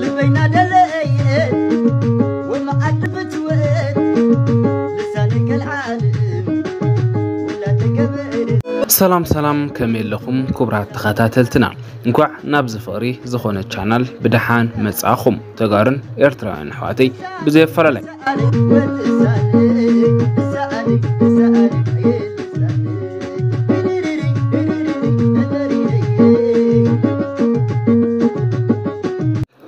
ልበይና ደለየት ወመዓድ ፍትወት ልሳነ ገልዓለም ወላ ተገበረ። ሰላም ሰላም፣ ከመይ ኣለኹም ክቡራት ተኸታተልትና? እንኳዕ ናብዚ ፍቕሪ ዝኾነ ቻናል ብደሓን መጻእኹም። ተጋሩን ኤርትራውያን ኣሕዋተይ ብዘየፈላለይ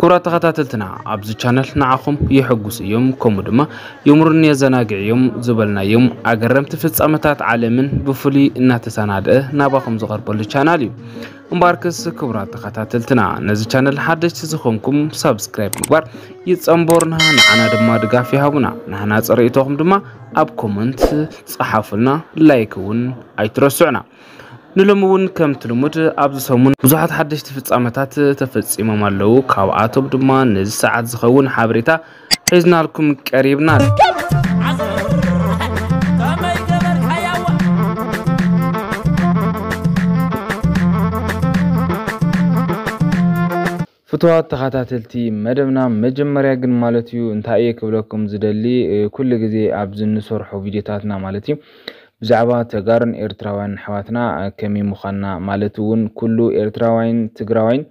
ክቡራት ተኸታተልትና፣ ኣብዚ ቻነል ንዓኹም የሐጉሱ እዮም፣ ከምኡ ድማ የምሩን የዘናግዕ እዮም ዝበልናዮም ኣገረምቲ ፍጻመታት ዓለምን ብፍሉይ እናተሰናድአ ናባኹም ዝቐርበሉ ቻናል እዩ። እምበኣርከስ ክቡራት ተኸታተልትና፣ ነዚ ቻነል ሓደሽቲ ዝኾንኩም ሳብስክራይብ ምግባር ይጸንበሩና፣ ንዓና ድማ ድጋፍ ይሃቡና። ንሕና ጽሬእቶኹም ድማ ኣብ ኮመንት ጸሓፉልና፣ ላይክ እውን ኣይትረስዑና። ንሎሚ እውን ከምቲ ልሙድ ኣብዚ ሰሙን ብዙሓት ሓደሽቲ ፍጻመታት ተፈጺሞም ኣለዉ። ካብኣቶም ድማ ነዚ ሰዓት ዝኸውን ሓበሬታ ሒዝናልኩም ቀሪብና። ፍቱዋት ተኸታተልቲ መደብና፣ መጀመርያ ግን ማለት እዩ እንታይ እየ ክብለኩም ዝደሊ፣ እ፣ ኩሉ ግዜ ኣብዚ እንሰርሖ ቪድዮታትና ማለት እዩ ብዛዕባ ተጋሩን ኤርትራውያን ኣሕዋትና፣ እ፣ ከመይ ምዃንና ማለት እውን ኩሉ ኤርትራዋይን ትግራዋይን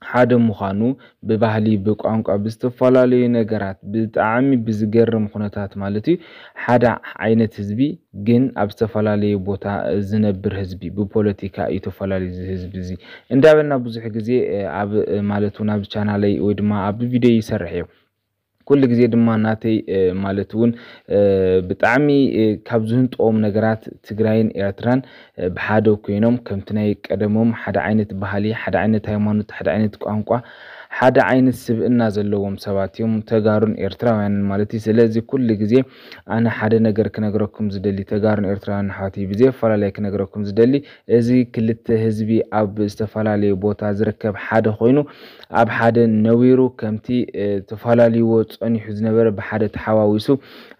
ሓደ ምዃኑ ብባህሊ፣ ብቋንቋ፣ ብዝተፈላለዩ ነገራት ብጣዕሚ ብዝገርም ኩነታት ማለት እዩ ሓደ ዓይነት ህዝቢ ግን ኣብ ዝተፈላለየ ቦታ ዝነብር ህዝቢ፣ ብፖለቲካ እዩ ተፈላለዩ እዚ ህዝቢ እዚ እንዳበልና ብዙሕ ግዜ፣ እ፣ ኣብ፣ እ፣ ማለት እውን ኣብ ቻናለይ ወይ ድማ ኣብ ቪድዮ ይሰርሕ እየ። ኩሉ ግዜ ድማ ናተይ፣ እ፣ ማለት እውን፣ እ፣ ብጣዕሚ፣ እ፣ ካብ ዝህንጥዎም ነገራት ትግራይን ኤርትራን፣ እ፣ ብሓደ ኮይኖም ከምቲ ናይ ቀደሞም ሓደ ዓይነት ባህሊ፣ ሓደ ዓይነት ሃይማኖት፣ ሓደ ዓይነት ቋንቋ፣ ሓደ ዓይነት ስብእና ዘለዎም ሰባት እዮም ተጋሩን ኤርትራውያንን ማለት እዩ። ስለዚ ኩሉ ግዜ ኣነ ሓደ ነገር ክነግረኩም ዝደሊ ተጋሩን ኤርትራውያን ኣሕዋተይ ብዘየፈላለየ ክነግረኩም ዝደሊ እዚ ክልተ ህዝቢ ኣብ ዝተፈላለየ ቦታ ዝርከብ ሓደ ኮይኑ ኣብ ሓደ ነቢሩ ከምቲ፣ እ፣ ተፈላልይዎ ጸኒሑ ዝነበረ ብሓደ ተሓዋዊሱ፣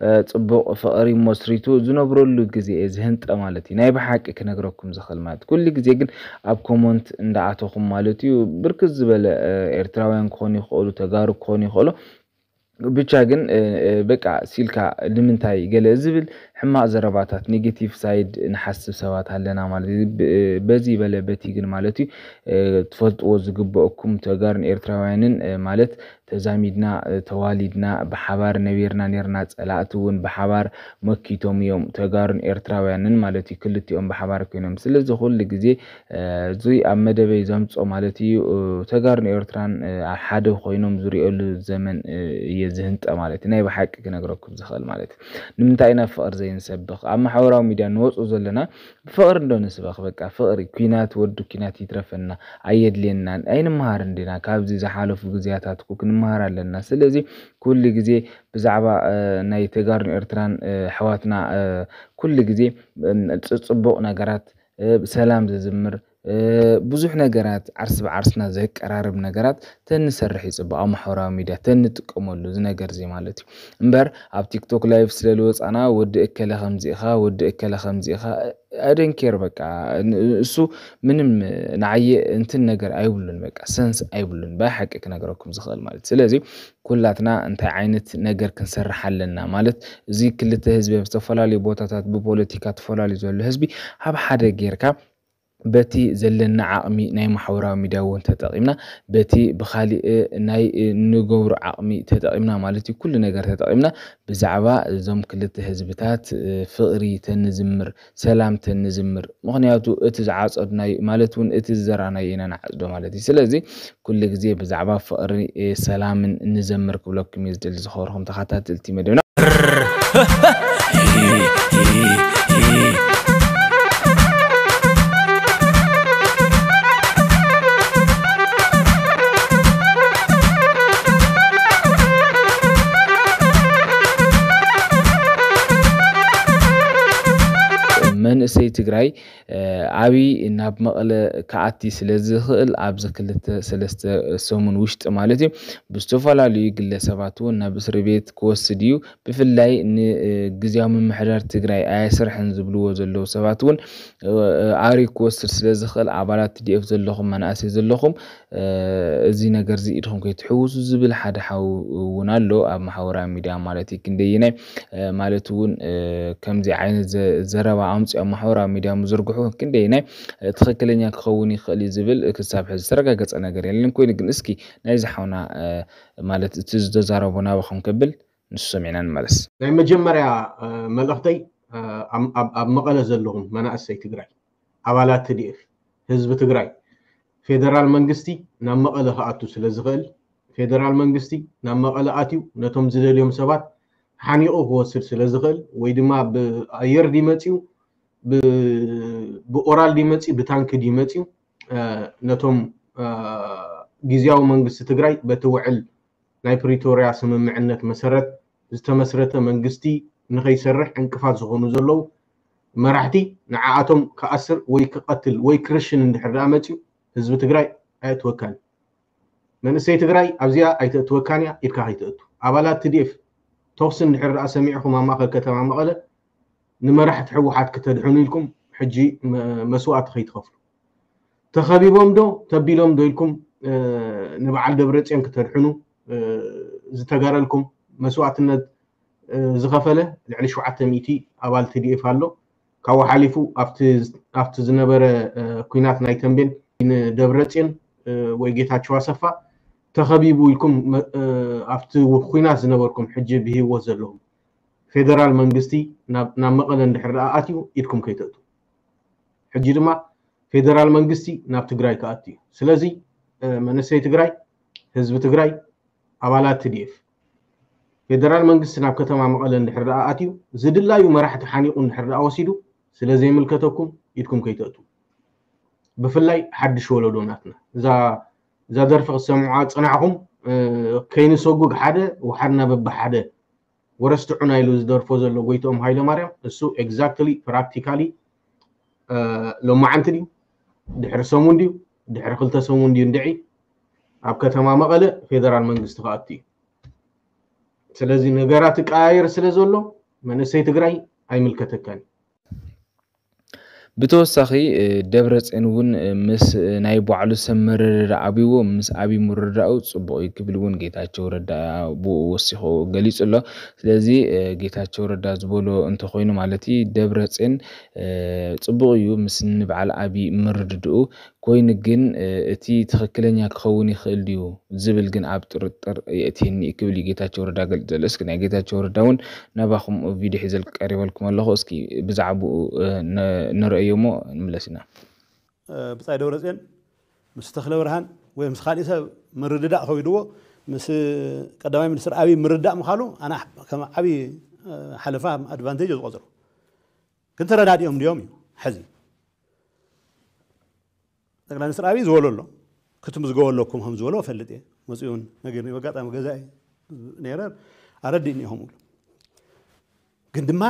እ፣ ጽቡቕ ፍቕሪ መስሪቱ ዝነብረሉ ግዜ እየ ዝህንጠ ማለት እዩ። ናይ ብሓቂ ክነግረኩም ዝኽእል ማለት። ኩሉ ግዜ ግን ኣብ ኮመንት እንዳኣተኹም ማለት እዩ ብርክት ዝበለ፣ እ፣ ኤርትራውያን ክኾኑ ይኽእሉ፣ ተጋሩ ክኾኑ ይኽእሉ። ብቻ ግን፣ እ፣ እ፣ በቃ ሲልካ ንምንታይ ገለ ዝብል ሕማቕ ዘረባታት፣ ኔጌቲቭ ሳይድ ንሓስብ ሰባት ኣለና ማለት እዩ። ብ-፣ በዚ በለ በቲ ግን ማለት እዩ፣ እ፣ ትፈልጥዎ ዝግበአኩም ተጋሩን ኤርትራውያንን፣ እ፣ ማለት ተዛሚድና፣ እ፣ ተዋሊድና፣ ብሓባር ነቢርና ኔርና፣ ጸላእቲ እውን ብሓባር መኪቶም እዮም ተጋሩን ኤርትራውያንን ማለት እዩ፣ ክልቲኦም ብሓባር ኮይኖም። ስለዚ ኩሉ ግዜ፣ እ፣ እዚ ኣብ መደበይ ዘምጾ ማለት እዩ፣ እ፣ ተጋሩን ኤርትራን፣ እ፣ ኣብ ሓደ ኮይኖም ዝሪኦሉ ዘመን፣ እ፣ እየ ዝህንጠ ማለት እዩ። ናይ ብሓቂ ክነግረኩም ዝኽእል ማለት እዩ። ንምንታይ ኢና ፍቕሪ ዘይንሰብኽ? ኣብ ማሕበራዊ ሚድያ ንወጽኡ ዘለና ብፍቕሪ እንዶ ንስበኽ። በቃ ፍቕሪ፣ ኲናት፣ ወዲ ኲናት ይትረፈና፣ ኣየድልየናን። ኣይንመሃርን ዲና? ካብዚ ዝሓለፉ ግዜያታት እኮ ክንመሃር ኣለና። ስለዚ ኩሉ ግዜ ብዛዕባ፣ እ፣ ናይ ተጋሩን ኤርትራን፣ እ፣ ኣሕዋትና፣ እ፣ ኩሉ ግዜ፣ እ፣ ጽ-፣ ጽቡቕ ነገራት፣ እ፣ ሰላም ዘዝምር፣ እ፣ ብዙሕ ነገራት ዓርሲ ብዓርስና ዘቀራርብ ነገራት ተንሰርሕ ይጽቡቕ። ኣብ ማሕበራዊ ሚድያ ተንጥቀመሉ እዚ ነገር እዚ ማለት እዩ። እምበር ኣብ ቲክቶክ ላይቭ ስለ ዝወጻና ወዲ እከለ ከምዚ ኢኻ፣ ወዲ እከለ ከምዚ ኢኻ፣ I don't care በቃ። ን-፣ እሱ ምንም ንዓየ እንትን ነገር ኣይብሉን፣ በቃ ሰንስ ኣይብሉን፣ ብሓቂ ክነግረኩም ዝኽእል ማለት። ስለዚ ኩላትና እንታይ ዓይነት ነገር ክንሰርሕ ኣለና ማለት፣ እዚ ክልተ ህዝቢ ኣብ ዝተፈላለዩ ቦታታት ብፖለቲካ ተፈላለዩ ዘሎ ህዝቢ ኣብ ሓደ ጌርካ በቲ ዘለና ዓቕሚ ናይ ማሕበራዊ ሚድያ እውን ተጠቒምና፣ በቲ ብኻሊእ ናይ ንገብሮ ዓቕሚ ተጠቒምና ማለት እዩ፣ ኩሉ ነገር ተጠቒምና ብዛዕባ እዞም ክልተ ህዝብታት ፍቕሪ ተንዝምር፣ ሰላም ተንዝምር። ምኽንያቱ እቲ ዝዓጸድናዮ ማለት እውን እቲ ዝዘራእናዮ ኢና ንዓጽዶ ማለት እዩ። ስለዚ ኩሉ ግዜ ብዛዕባ ፍቕሪ፣ ሰላምን ንዘምር ክብለኩም እየ ዝደሊ ዝኸበርኩም ተኸታተልቲ መደብና። መንእሰይ ትግራይ ኣብይ ናብ መቐለ ክኣቲ ስለ ዝኽእል ኣብዚ ክልተ ሰለስተ ሰሙን ውሽጢ ማለት እዩ ብዝተፈላለዩ ግለሰባት እውን ናብ እስሪ ቤት ክወስድ እዩ። ብፍላይ ንግዝያዊ ምምሕዳር ትግራይ ኣየስርሕን ዝብልዎ ዘለዉ ሰባት እውን ኣሪ ክወስድ ስለ ዝኽእል ኣባላት ቲ ዲ ኤፍ ዘለኹም መናእሰይ ዘለኹም እዚ ነገር እዚ ኢድኹም ከይትሕውሱ ዝብል ሓደ ሓው እውን ኣሎ ኣብ ማሕበራዊ ሚድያ ማለት እዩ። ክንደይናይ ማለት እውን ከምዚ ዓይነት ዘረባ ኣምፅኦ ኣብ ማሕበራዊ ሚድያ ምዝርግሑ ክንደይናይ ትኽክለኛ ክኸውን ይኽእል እዩ ዝብል ክሳብ ሕዚ ዝተረጋገፀ ነገር የለን። ኮይኑ ግን እስኪ ናይዚ ሓውና ማለት እቲ ዝተዛረቦ ናባኹም ከብል ንሱ ሰሚዕና ንመለስ። ናይ መጀመርያ መልእኽተይ ኣብ መቐለ ዘለኹም መናእሰይ ትግራይ ኣባላት ቲ ዲ ኤፍ ህዝቢ ትግራይ ፌደራል መንግስቲ ናብ መቐለ ክኣቱ ስለ ዝኽእል ፌደራል መንግስቲ ናብ መቐለ ኣትዩ ነቶም ዝደልዮም ሰባት ሓኒቑ ክወስድ ስለ ዝኽእል ወይ ድማ ብኣየር ድዩ መፅዩ ብኦራል ድዩ መፅዩ ብታንኪ ድዩ መፅዩ ነቶም ግዝያዊ መንግስቲ ትግራይ በቲ ውዕል ናይ ፕሪቶርያ ስምምዕነት መሰረት ዝተመስረተ መንግስቲ ንኸይሰርሕ ዕንቅፋት ዝኾኑ ዘለዉ መራሕቲ ንዓኣቶም ክኣስር ወይ ክቐትል ወይ ክርሽን እንድሕር ደኣ መፅዩ ህዝቢ ትግራይ ኣየእትወካን እዩ። መንእሰይ ትግራይ ኣብዚኣ ኣይተእትወካን እያ ኢድካ ከይተእቱ። ኣባላት ቲ ዲ ኤፍ ተኹሲ እንድሕር ደኣ ሰሚዕኹም ኣብ ማእኸል ከተማ መቐለ ንመራሕቲ ህወሓት ክተድሕኑ ኢልኩም ሕጂ መስዋእቲ ከይትኸፍሉ ተኸቢቦም ዶ ተቢሎም ዶ ኢልኩም ንበዓል ደብረፅዮን ክተድሕኑ ዝተጋረልኩም መስዋእትነት ዝኸፈለ ልዕሊ ሸውዓተ ሚእቲ ኣባል ቲ ዲ ኤፍ ኣሎ። ካብኡ ሓሊፉ ኣብቲ ዝነበረ ኩናት ናይ ተንቤን ንደብረፅዮን ወይ ጌታቸው ኣሰፋ ተኸቢቡ ኢልኩም ኣብቲ ኩናት ዝነበርኩም ሕጂ ብሂወት ዘለኹም ፌደራል መንግስቲ ናብ መቐለ እንድሕር ደኣ ኣትዩ ኢድኩም ከይተእቱ ሕጂ ድማ ፌደራል መንግስቲ ናብ ትግራይ ክኣቱ እዩ። ስለዚ መንእሰይ ትግራይ ህዝቢ ትግራይ ኣባላት ቲ ዲ ኤፍ ፌደራል መንግስቲ ናብ ከተማ መቐለ እንድሕር ደኣ ኣትዩ ዝድላዩ መራሕቲ ሓኒቑ እንድሕር ደኣ ወሲዱ ስለ ዘይምልከተኩም ኢድኩም ከይተእቱ ብፍላይ ሓድሽ ወለዶ ናትና እዛ ደርፊ ክትሰምዑ ዝፀናሕኹም ከይንሰጉግ ሓደ ወሓድና በብሓደ ወረስትዑና ኢሉ ዝደርፎ ዘሎ ጎይትኦም ሃይለማርያም እሱ exactly practically ሎማዓንቲ ድዩ ድሕሪ ሰሙን ድዩ ድሕሪ ክልተ ሰሙን ድዩ እንድዒ ኣብ ከተማ መቐለ ፌደራል መንግስቲ ክኣቱ እዩ። ስለዚ ነገራት ይቀያየር ስለ ዘሎ መንእሰይ ትግራይ ኣይምልከተካን እዩ። ብተወሳኺ ደብረፅዮን እውን ምስ ናይ ባዕሉ ሰብ ምርድዳእ ኣብይዎ ምስ ኣብይ ምርድዳኡ ፅቡቕ እዩ ክብል እውን ጌታቸው ረዳ ብኡ ወሲኹ ገሊፁ ኣሎ። ስለዚ ጌታቸው ረዳ ዝበሎ እንተኮይኑ ማለት እዩ ደብረፅዮን ፅቡቕ እዩ ምስ ንበዓል ኣብይ ምርድድኡ ኮይኑ ግን እቲ ትኽክለኛ ክኸውን ይኽእል ድዩ ዝብል ግን ኣብ ጥርጥር የእትየኒ ክብል እዩ ጌታቸው ረዳ ገልፅ ዘሎ። እስኪ ናይ ጌታቸው ረዳ እውን ናባኹም ቪድዮ ሒዘ ቀሪበልኩም ኣለኹ። እስኪ ብዛዕባኡ ንረእዮ እሞ ንምለስ ኢና። ብጻይ ደብረጽዮን ምስ ተኽለ ብርሃን ወይ ምስ ካሊእ ሰብ ምርድዳእ ከዊድዎ ምስ ቀዳማይ ሚኒስትር ኣብይ ምርዳእ ምዃኑ ኣነ ከም ዓብዪ ሓለፋ ኣድቫንቴጅ ዝቆፅሮ ግን ተረዳዲኦም ድዮም እዩ ሕዚ ጠቅላይ ሚኒስትር ኣብይ ዝበሎ ኣሎ ክትምዝገቡ ኣለኩም ከም ዝበሎ ፈልጥ እየ መፅኡ እውን ነጊርኒ በጋጣሚ ገዛኢ ነይረ ኣረዲእኒ ኢኹም ግን ድማ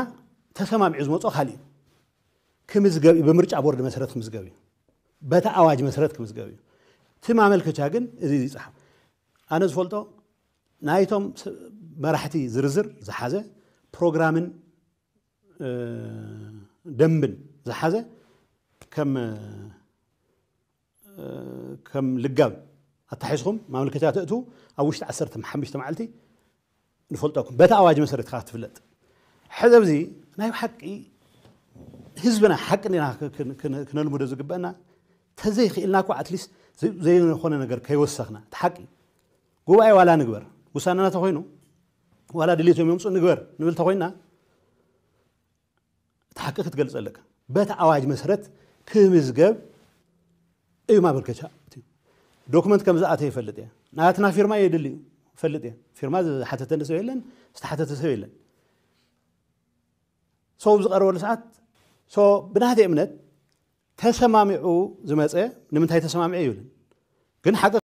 ተሰማሚዑ ዝመፅኦ ካሊእ እዩ ክምዝገብ እዩ ብምርጫ ቦርድ መሰረት ክምዝገብ እዩ በቲ ኣዋጅ መሰረት ክምዝገብ እዩ እቲ ማመልከቻ ግን እዚ ይፅሓፍ ኣነ ዝፈልጦ ናይቶም መራሕቲ ዝርዝር ዝሓዘ ፕሮግራምን ደንብን ዝሓዘ ከም ከም ልጋብ ኣታሒዝኩም ማመልከቻ ተእትዉ ኣብ ውሽጢ ዓሰርተ ሓሙሽተ መዓልቲ ንፈልጠኩም በቲ ኣዋጅ መሰረት ኢኻ ትፍለጥ ሕዚ ኣብዚ ናይ ሓቂ ህዝብና ሓቂ ና ክነልምዶ ዝግበአና ተዘይክእልና እኮ ኣትሊስት ዘይኮነ ነገር ከይወሰኽና እቲ ሓቂ ጉባኤ ዋላ ንግበር ውሳነና ተኮይኑ ዋላ ድሌቶም የምፁ ንግበር ንብል ተኮይና እቲ ሓቂ ክትገልፅ ኣለካ በቲ ኣዋጅ መሰረት ክምዝገብ እዩ ማበርከቻ ዶክመንት ከም ዝኣተ ይፈልጥ እየ ናትና ፊርማ የድሊ እዩ ፈልጥ እየ ፊርማ ዝሓተተኒ ሰብ የለን ዝተሓተተ ሰብ የለን ሰው ዝቀረበሉ ሰዓት ብናተ እምነት ተሰማሚዑ ዝመፀ ንምንታይ ተሰማሚዑ ይብልን ግን ሓቂ